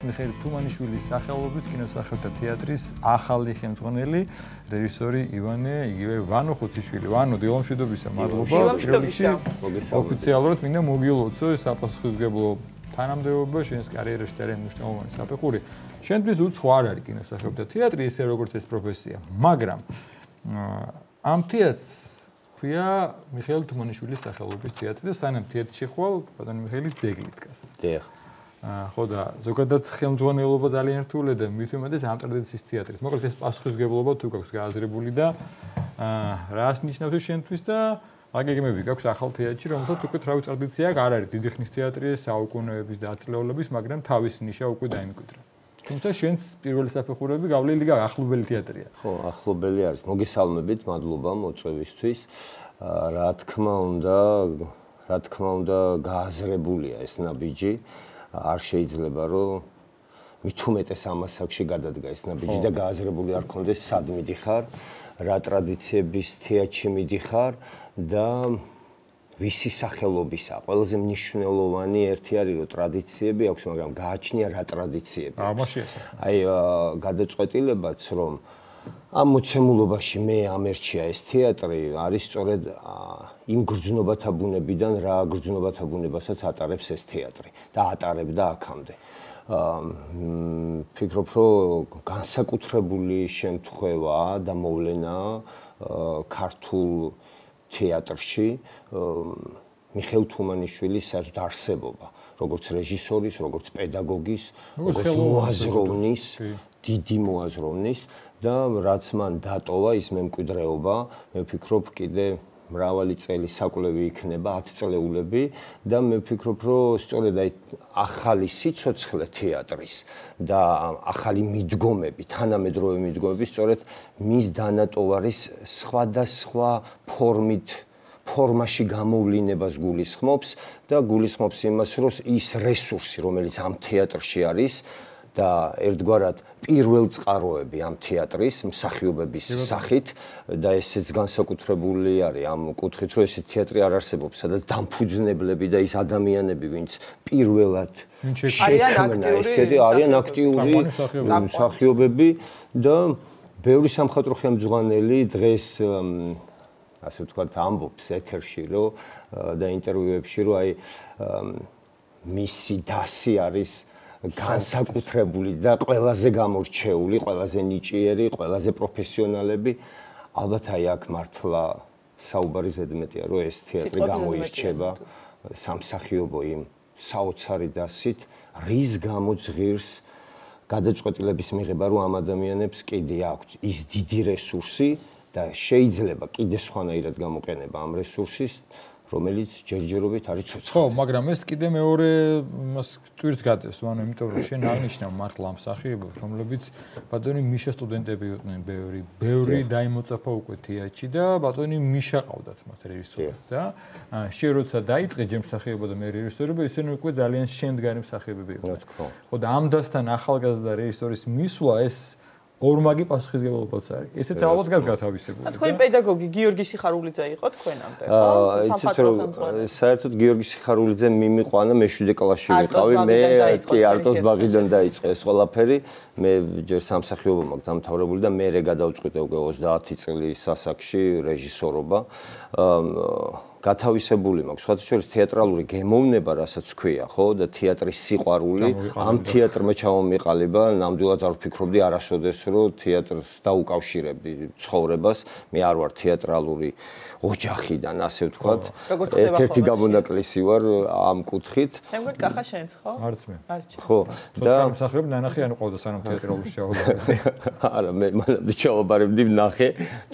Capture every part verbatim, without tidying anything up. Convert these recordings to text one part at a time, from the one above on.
მიხეილ თუმანიშვილის სახელობის კინოსახელთა თეატრის ახალი ხელმძღვანელი რეჟისორი ივანე იგივე ვანო ხუციშვილი. ვანო, დილომშვიდობისა, მადლობა. ოფიციალურად მინდა მოგილოცო საპასუხისმგებლო თანამდებობა შენს კარიერაში ძალიან მნიშვნელოვანი საფეხური. შენთვის უცხო არ არის კინოსახელთა თეატრი, ისე როგორც ეს პროფესია, მაგრამ ამ თეატრს ქვია მიხეილ თუმანიშვილის სახელობის თეატრი და სანამ თეატრში ხვალ ბატონი მიხეილის ძეგლი დგას. დიახ. ხო და ზოგადად ხელმძღვანელობა ძალიან რთულია და მით უმეტეს ამ ტრადიციის თეატრის. მოკლედ ეს პასუხისმგებლობა თუ გაქვს გააზრებული და რას ნიშნავს შენთვის და აგეგმები გაქვს ახალ თეატრში, რომელსაც უკვე თავის ტრადიცია არ არის დიდი ხნის თეატრი, საუკუნეების და აწლეულების, მაგრამ თავის ნიშა უკვე დაიმკვიდრა. თუმცა შენს პირველი საფეხურები გავლილი ახლობელი თეატრია. ხო, ახლობელი არის. მოგესალმებით, მადლობა მოწვევისთვის. რა თქმა უნდა, რა თქმა უნდა, გააზრებულია ეს ნაბიჯი. არ შეიძლება რომ მით უმეტეს ამ ასაკში გადადგა ეს ნაბიჯი და გააზრებული არ ქონდეს სად მიდიხარ, რა ტრადიციების თეატრში მიდიხარ და ვისი სახელობისა. ყველაზე მნიშვნელოვანი ერთი არის რომ ტრადიციები აქვს, მაგრამ გააჩნია რა ტრადიციები. ამაში ესა. აი გადაწყვეტილებაც რომ ამ მოცემულობაში მე ამერჩია ეს თეატრი არის სწორედ იმ გრძნობათა ბუნებიდან რა გრძნობათა ბუნებასაც ატარებს ეს თეატრი და ატარებდა აქამდე. ფიქრობ რომ განსაკუთრებული შემთხვევაა და მოვლენა ქართულ თეატრში მიხეილ თუმანიშვილის საერთოდ არსებობა, როგორც რეჟისორის, როგორც პედაგოგის, როგორც მოაზროვნის, დიდი მოაზროვნის და რაც მან დატოვა ის მემკვიდრეობა, მე ვფიქრობ კიდე მრავალი წელი საკვლევი იქნება, ათი წლეულები და მე ვფიქრობ რომ სწორედ აი ახალი სიცოცხლე თეატრის და ახალი მიდგომები, თანამედროვე მიდგომები სწორედ მის დანატოვარის სხვადასხვა ფორმით ფორმაში გამოვლინებას გულისხმობს და გულისხმობს იმას, რომ ის რესურსი, რომელიც ამ თეატრში არის და ერთგვარად პირველ წყაროები ამ თეატრის მსახიობების სახით და ესეც განსაკუთრებული არის ამ კუთხით, რომ ეს თეატრი არ არსებობს, სადაც დამფუძნებლები და ის ადამიანები, ვინც პირველად შექმნა ეს თეატრი, არიან აქტიური მსახიობები და ბევრი სამხატვრო ხელმძღვანელი დღეს ასე ვთქვათ ამბობს ეთერში რომ და ინტერვიუებში რომ აი მისი დასი არის განსაკუთრებული და ყველაზე გამორჩეული, ყველაზე ნიჭიერი, ყველაზე პროფესიონალები. ალბათ აი აქ მართლა საუბარი ზედმეტია, რომ ეს თეატრი გამოირჩევა სამსახიობო იმ საოცარი დასით, რის გამოც ღირს გადაწყვეტილების მიღება, რომ ამ ადამიანებს კიდე აქვთ ის დიდი რესურსი და შეიძლება კიდე სხვანაირად გამოყენება ამ რესურსის, რომელიც ჯერჯერობით არის ცოცხალი. ხო, მაგრამ ეს კიდე მეორე მას ტვირთს გატევს, ანუ იმიტომ რომ შენ აღნიშნავ მართლა ამ მსახიობებს, რომლებიც ბატონი მიშა სტუდენტები იყვნენ ბევრი, ბევრი დაიმოწაფა უკვე თეატრში და ბატონი მიშა ყავდათ მათ რეჟისორად და შენ როცა დაიწყე ჯერ მსახიობობა და მე რეჟისორობა, ისინი უკვე ძალიან შემდგარი მსახიობები იყვნენ. ხო და ამ დასთან ახალგაზრდა რეჟისორის მისვლა ეს ორმაგი პასუხისმგებლობაც არის. ესეც ალბათ გათავისებული. თქვენი პედაგოგი გიორგი სიხარულიძე იყო თქვენამდე, ხო? სამხატვრო ხელმძღვანელი. საერთოდ გიორგი სიხარულიძე მიმიყვანა, მე შვიდი კლასში ვიყავი, მე კი არტოს ბაღიდან დაიწყე ეს ყველაფერი. მე ჯერ სამსახიობო მაქვს დამთავრებული და მე გადავწყვიტე უკვე ოცდაათი წლის ასაკში რეჟისორობა. გათავისებული მაქვს, სხვათა შორის თეატრალური გემოვნება, რასაც ქვია, ხო, და თეატრის სიყვარული, ამ თეატრმა ჩამომიყალიბა, ნამდვილად არ ვფიქრობდი არასოდეს, რომ თეატრს დაუკავშირებდი ცხოვრებას. მე არ ვარ თეატრალური ოჯახიდან, ასე ვთქვათ. ერთ-ერთი გამონაკლისი ვარ ამ კუთხით. მე მგონი კახა შენც, ხო? არც მე. ხო. და მსახიობ ნანახი ანუ ყავდა სანამ თეატრალურში ჩავაბარებდი. არა, მე მანამდე ჩავაბარებდი ნახე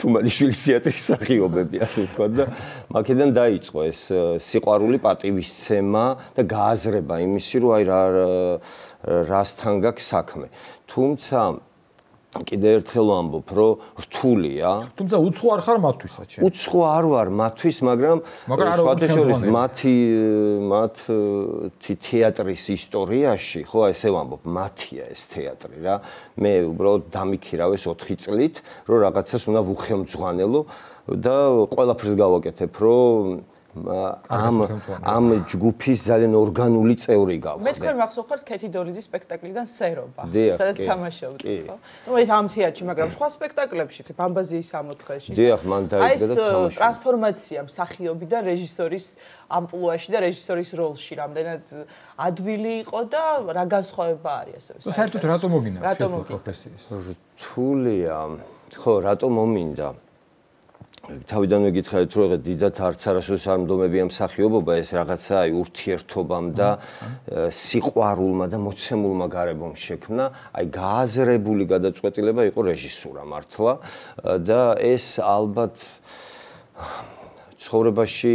თუმანიშვილის თეატრის მსახიობები, ასე ვთქვათ და მაქედან დაიწყო ეს სიყვარული, პატივისცემა და გააზრება იმისი, რომ აი რა რასთან გაქვს საქმე. თუმცა კიდე ერთხელ ვამბობ, რომ რთულია. თუმცა უცხო არ ხარ მათთვისაც. უცხო არ ვარ მათთვის, მაგრამ სხვათა შორის მათი მათი თეატრის ისტორიაში, ხო, ესე ვამბობ, მათია ეს თეატრი რა. მე უბრალოდ დამიქირავეს ოთხი წლით, რომ რაღაცას უნდა ვუხელმძღვანელო და ყველაფერს გავაკეთებ, რომ ამ ამ ჯგუფის ძალიან ორგანული წევრი გავხდე. მე თქვენ მახსოვხართ ქეთი დოლიძის სპექტაკლიდან სერობა, დიახ, სადაც კი. თამაშობდით, ხო? ნუ ეს ამ თეატრში, მაგრამ სხვა სპექტაკლებში, ბამბაზიის სამოთხეში. დიახ, მან დაიდგა და აი თამაშობდა. ეს ტრანსფორმაცია მსახიობიდან რეჟისორის ამპლუაში და რეჟისორის როლში რამდენად ადვილი იყო და რა განსხვავება არის ასევე. საერთოდ რატომ მოგინდა რატომ შევხვდით პროფესიის? რთულია. ხო, რატომ მომინდა? თავიდანვე გითხარით, რომ ეგ დიდად არც არასოდეს არ მდომებია მსახიობობა, ეს რაღაცა აი ურთიერთობამ და სიყვარულმა და მოცემულმა გარემომ შექმნა, აი გააზრებული გადაწყვეტილება იყო რეჟისურა მართლა და ეს ალბათ ცხოვრებაში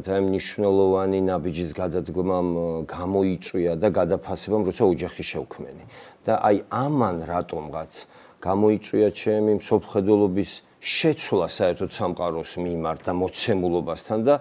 ძალიან მნიშვნელოვანი ნაბიჯის გადადგმამ გამოიწვია და გადაფასებამ, როცა ოჯახი შევქმენი. და აი ამან რატომღაც გამოიწვია ჩემი მსოფლმხედველობის შეცვლა საერთოდ სამყაროს მიმართ და მოცემულობასთან და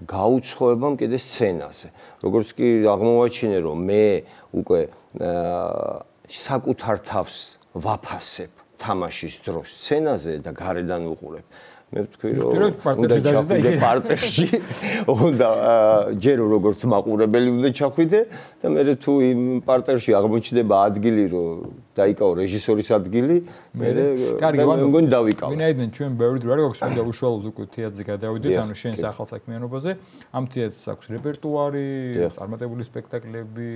გაუცხოებამ კიდე სცენაზე. როგორც კი აღმოვაჩინე, რომ მე უკვე საკუთარ თავს ვაფასებ თამაშის დროს სცენაზე და გარედან ვუყურებ. მე ვთქვი, რომ უნდა ჩახვიდე პარტერში, უნდა ჯერ როგორც მაყურებელი უნდა ჩახვიდე და მე თუ იმ პარტერში აღმოჩნდება ადგილი, რომ დაიკავო რეჟისორის ადგილი, მე მე მგონი დავიკავე. ვინაიდან ჩვენ ბევრი დრო არ გვაქვს, უნდა უშუალოდ უკვე თეატრზე გადავიდეთ, ანუ შენ ახალსაქმიანობაზე, ამ თეატრს აქვს რეპერტუარი, წარმატებული სპექტაკლები,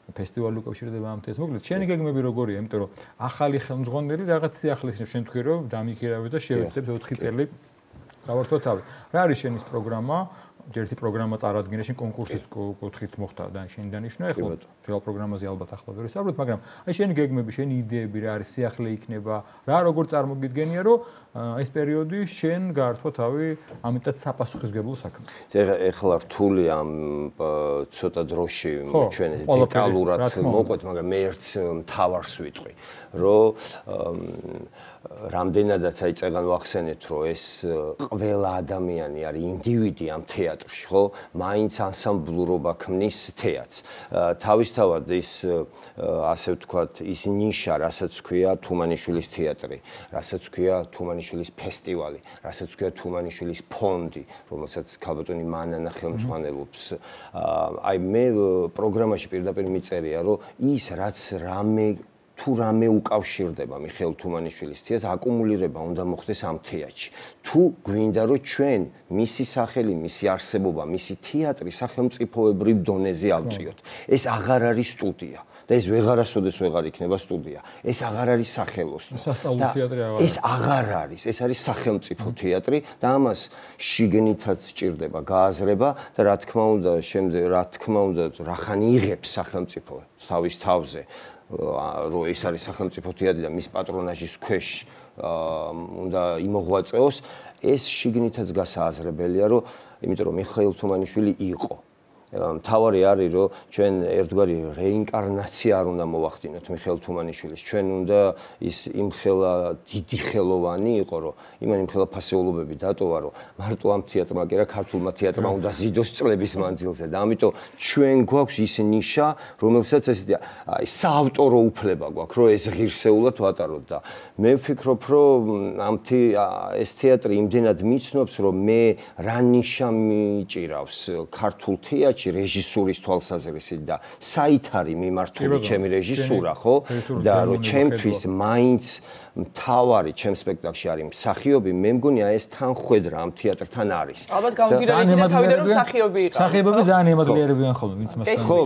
ფესტივალი უკავშირდება ამ თეატრს. მოკლედ, შენი გეგმები როგორია? იმიტომ რომ ახალი ხელმძღვანელი რაღაც სიახლეს შენ თქვი რომ დამიქირავებს და შევეცდებ ოთხი წელი გავართო თავი. რა არის შენის პროგრამა? ერთი პროგრამა წარადგინე, შენ კონკურსის კუთხით მოხდა და შენ დანიშნე, ახლა რეალ პროგრამაზე ალბათ ახლა ვერ ვისაუბროთ, მაგრამ აი შენი გეგმები, შენი იდეები რა არის, სიახლე იქნება, რა როგორ წარმოგიდგენია, რომ ეს პერიოდი შენ გაართვა თავი ამიტად საპასუხისმგებლო საქმეს. ეხლა რთული ამ ცოტა დროში ჩვენ ეს დეტალურად მოყვეთ, მაგრამ მე ერთ მთავარს ვიტყვი, რომ რამდენადაც აი წეგან ვახსენეთ, რომ ეს ყველა ადამიანი არის ინდივიდი ამ თეატრში, ხო? მაინც ანსამბლურობა ქმნის თეატრს. თავისთავად ის ასე ვთქვათ, ის ნიშა, რასაც ქვია თუმანიშვილის თეატრი, რასაც ქვია თუმანიშვილის ფესტივალი, რასაც ქვია თუმანიშვილის ფონდი, რომელსაც ქალბატონი მანანა ხელმძღვანელობს. აი მე პროგრამაში პირდაპირ მიწერია, რომ ის რაც რამე თუ რამე უკავშირდება მიხეილ თუმანიშვილის თეატრს, აკუმულირება უნდა მოხდეს ამ თეატრში. თუ გვინდა რომ ჩვენ მისი სახელი, მისი არსებობა, მისი თეატრი სახელმწიფოებრივ დონეზე ავწიოთ, ეს აღარ არის სტუდია. და ეს ვეღარასოდეს ვეღარ იქნება სტუდია. ეს აღარ არის სახელოსნო. სასწავლო თეატრი აღარ არის. ეს აღარ არის, ეს არის სახელმწიფო თეატრი და ამას შიგნითაც სჭირდება გააზრება და რა თქმა უნდა, შემდეგ რა თქმა უნდა, რახანი იღებს სახელმწიფო თავის თავზე, რომ ეს არის სახელმწიფო თეატრი და მის პატრონაჟის ქვეშ უნდა იმოღვაწეოს, ეს შიგნითაც გასააზრებელია, რომ იმიტომ რომ მიხეილ თუმანიშვილი იყო. მთავარი არის, რომ ჩვენ ერთგვარი რეინკარნაცია არ უნდა მოვახდინოთ მიხეილ თუმანიშვილის. ჩვენ უნდა ის იმხელა დიდი ხელოვანი იყო, რომ იმან იმხელა ფასეულობები დატოვა, რომ მარტო ამ თეატრმა კი არა, ქართულმა თეატრმა უნდა ზიდოს წლების მანძილზე და ამიტომ ჩვენ გვაქვს ის ნიშა, რომელსაც ესეთი აი საავტორო უფლება გვაქვს, რომ ეს ღირსეულად ვატაროთ და მე ვფიქრობ, რომ ამ ეს თეატრი იმდენად მიცნობს, რომ მე რა ნიშა მიჭირავს ქართულ თეატრში რეჟისურის თვალსაზრისით და საით არის მიმართული ჩემი რეჟისურა, ხო? და რომ ჩემთვის მაინც მთავარი ჩემ სპექტაკლში არის მსახიობი, მე მგონია ეს თანხვედრა ამ თეატრთან არის. ალბათ გამოგირებდი და თავიდან რომ მსახიობი იყო. მსახიობები ძალიან ემადლიერებიან ხოლმე, ვინც მასთან. ხო,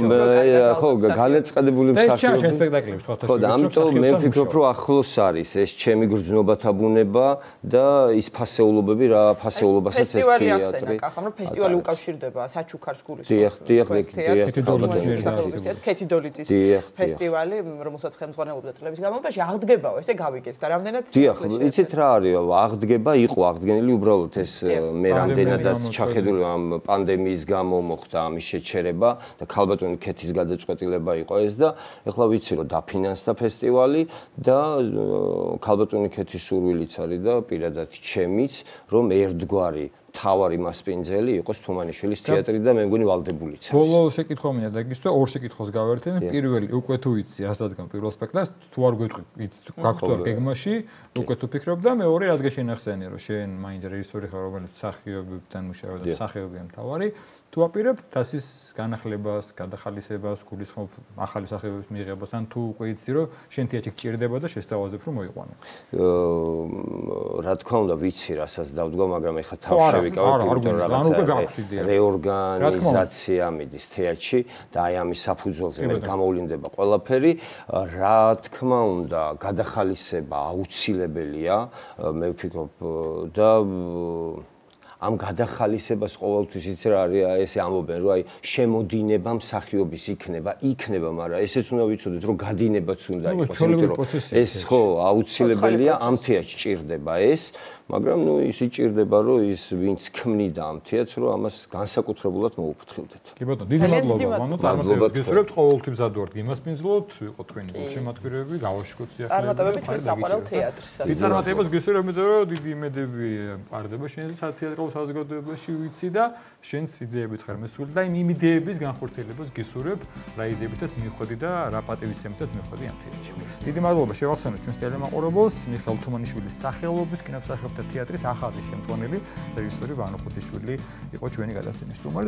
ხო, განაცხადებული მსახიობი. ეს სპექტაკლებში თქვა. ხო, და ამიტომ მე ვფიქრობ, რომ ახლოს არის ეს ჩემი გრძნობათა ბუნება და ის ფასეულობები, რა ფასეულობასაც ეს თეატრი. ფესტივალი ახსენა, კახა, რომ ფესტივალი უკავშირდება საჩუქარს გულისხმობს. დიახ, დიახ, ქეთი დოლიძის ფესტივალი, რომელსაც ხელმძღვანელობდა წლების განმავლობაში, აღდგებაო, ესე გავიგეთ. და რამდენად დიახ, იცით რა არის, აღდგება იყო, აღდგენილი უბრალოდ ეს მე რამდენადაც ჩახედული ამ პანდემიის გამო მოხდა ამის შეჩერება და ქალბატონი ქეთის გადაწყვეტილება იყო ეს და ეხლა ვიცი რომ დაფინანსდა ფესტივალი და ქალბატონი ქეთის სურვილიც არის და პირადად ჩემიც რომ ერთგვარი მთავარი მასპინძელი იყოს თუმანიშვილის თეატრი და მე მგონი ვალდებულიც არის. ბოლო შეკითხვა მინდა დაგისვა, ორ შეკითხვას გავერთენ. პირველი, უკვე თუ იცი, რას დადგან პირველ სპექტაკლს, თუ არ გვეტყვი, იცი, გაქვს თუ არ გეგმაში, უკვე თუ ფიქრობ და მეორე რაც გეშენახსენია, რომ შენ მაინც რეჟისორი ხარ, რომელიც მსახიობებთან მუშაობს და მსახიობია მთავარი, თუ აპირებ თასის განახლებას, გადახალისებას, გულისხმობ ახალი მსახიობების მიღებას, ან თუ უკვე იცი, რომ შენ თეატრში გჭირდება და შესთავაზებ, რომ მოიყვანო. რა თქმა უნდა, ვიცი, რასაც დავდგა, მაგრამ ეხლა თავში ვიკავებ, იმიტომ რომ რაღაცა რეორგანიზაცია მიდის თეატრში და აი ამის საფუძველზე მე გამოვლინდება ყველაფერი. რა თქმა უნდა, გადახალისება აუცილებელია, მე ვფიქრობ და ამ გადახალისებას ყოველთვის იცი რა არის, ესე ამბობენ, რომ აი შემოდინება მსახიობის იქნება, იქნება, მაგრამ ესეც უნდა ვიცოდეთ, რომ გადინებაც უნდა იყოს, იმიტომ რომ ეს ხო აუცილებელია, ამ თეატრში ჭირდება ეს, მაგრამ ნუ ის იჭირდება, რომ ის ვინც ქმნიდა ამ თეატრს, რომ ამას განსაკუთრებულად მოუფრთხილდეთ. კი ბატონო, დიდი მადლობა, ვანო, წარმატებებს გისურვებთ, ყოველთვის მზად ვართ გიმასპინძლოთ, იყო თქვენი გულშემატკივრები, გავაშკოთ სიახლეები. წარმატებები ჩვენს საყვარელ თეატრისას. დიდი წარმატებებს გისურვებ, იმიტომ რომ დიდი იმედები მყარდება შენზე თეატრალურ საზოგადოებაში ვიცი და შენს იდეებით ხარ მესული და იმ იდეების განხორციელებას გისურვებ, რა იდეებითაც მიხვედი და რა პატივისცემითაც მიხვედი ამ თეატრში. დიდი მადლობა შევახსენოთ ჩვენს ტელემაყურებელს, მიხეილ თუმანიშვილის სახელობის კინომსახიობთა თეატრის ახალი შემწვანელი რეჟისორი ვანო ხუთიშვილი იყო ჩვენი გადაცემის სტუმარი.